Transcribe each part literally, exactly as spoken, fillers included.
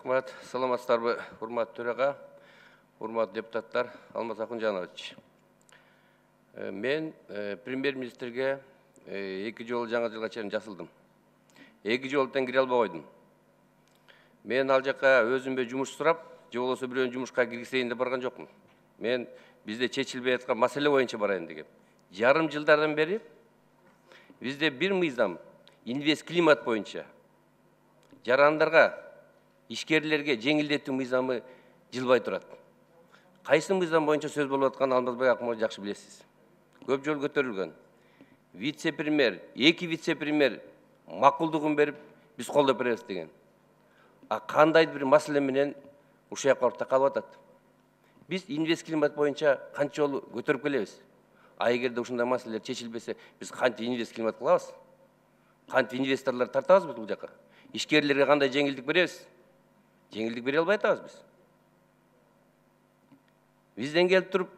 Рахмат. Саламатсыздарбы, урматтуу төраға, урматтуу депутаттар, Алмаз Акунжанович. Мен премьер-министрге эки жолу жаңы жылга чейин жасылдым. Эки жолдон кире албай койдум. Мен ал жака өзүмө жумуш сурап, же болбосо бирөөнү жумушка киргизейин деп барган жокмун. Мен бизде чечилбей аткан маселе боюнча барайын дегем. Жарым жылдардан бери бизде бир мыйзам инвест климат боюнча жарандарга, ишкерлерге жеңилдетүү мыйзамы жылбай турат. Кайсы мыйзам боюнча сөз болуп атканын Алмазбек Акмолович жакшы билесиз. Көп жолу көтөрүлгөн. Вице-премьер, эки вице-премьер макулдугун берип, биз колдоп беребиз деген. А кандайдыр бир маселе менен ушул жака барып такалып атат. Биз инвест климат боюнча канча жолу көтөрүп келебиз. А эгерде ушундай маселелер чечилбесе, биз кантип инвест климат кылабыз? Кантип инвесторлор тартабыз бул жака? Ишкерлерге кандай жеңилдик беребиз? Жеңилдик бере албай атабыз биз. Бизден келип туруп,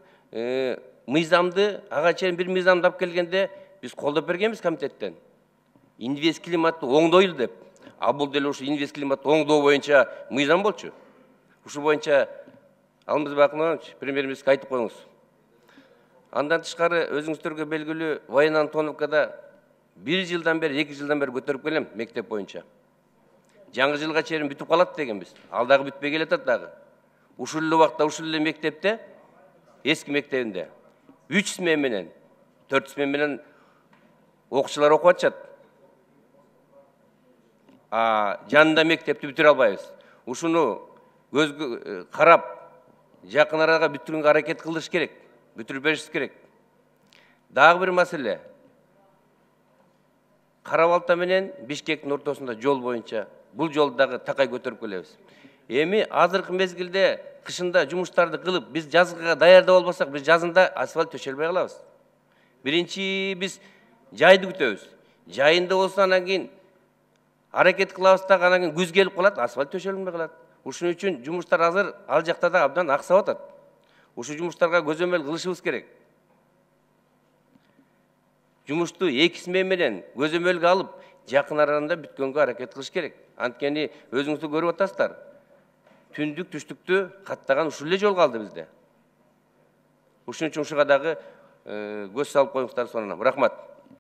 мыйзамды, ага чейин бир мыйзамды алып келгенде, биз колдоп бергенбиз комитеттен. Инвест климатты оңдойлу деп. А бул деле ушу инвест климатты оңдоо боюнча мыйзам болчу. Ушу боюнча Алмазбек Акмолович премьер-министрге айтып коюңуз. Андан тышкары өзүңүздөргө белгилүү Воен Антоновкада бир жылдан бери, эки жылдан бери көтөрүп келем мектеп боюнча. Жаңы жылга чейин бүтүп калат дегенбиз. Ал дагы бүтпөй келатат дагы. Ушул эле убакта ушул эле мектепте, эски мектебинде үч смена менен, төрт смена менен окуучулар окуп атышат. А жанында мектепти бүтүрө албайбыз. Ушуну көзгө карап, жакын арага бүтүрүүгө аракет кылыш керек. Бүтүрүп бериш керек. Дагы бир маселе. Кара Балта менен Бишкектин ортосунда жол боюнча бул жолду дагы такай көтөрүп келебиз. Эми азыркы мезгилде кышында жумуштарды кылып, биз жазга даярдап албасак, биз жазында асфальт төшөлбөй калабыз. Биринчи биз жайды күтөбүз. Жайында болсо анан кийин аракет кылабыз да, анан кийин күз келип калат, асфальт төшөлбөй калат. Ушун үчүн жумуштар азыр ал жакта да абдан аксап атат. Ушул жумуштарга көзөмөл кылышыбыз керек. Жумушту эки смена менен көзөмөлгө алып, жакын арада бүткөнгө аракет кылыш керек. Анткени өзүңүздөр көрүп атасыздар. Түндүк, түштүктү каттаган ушул эле жол калды бизде. Ушун үчүн ушуга дагы көз салып коюңуздар сонунан. Рахмат.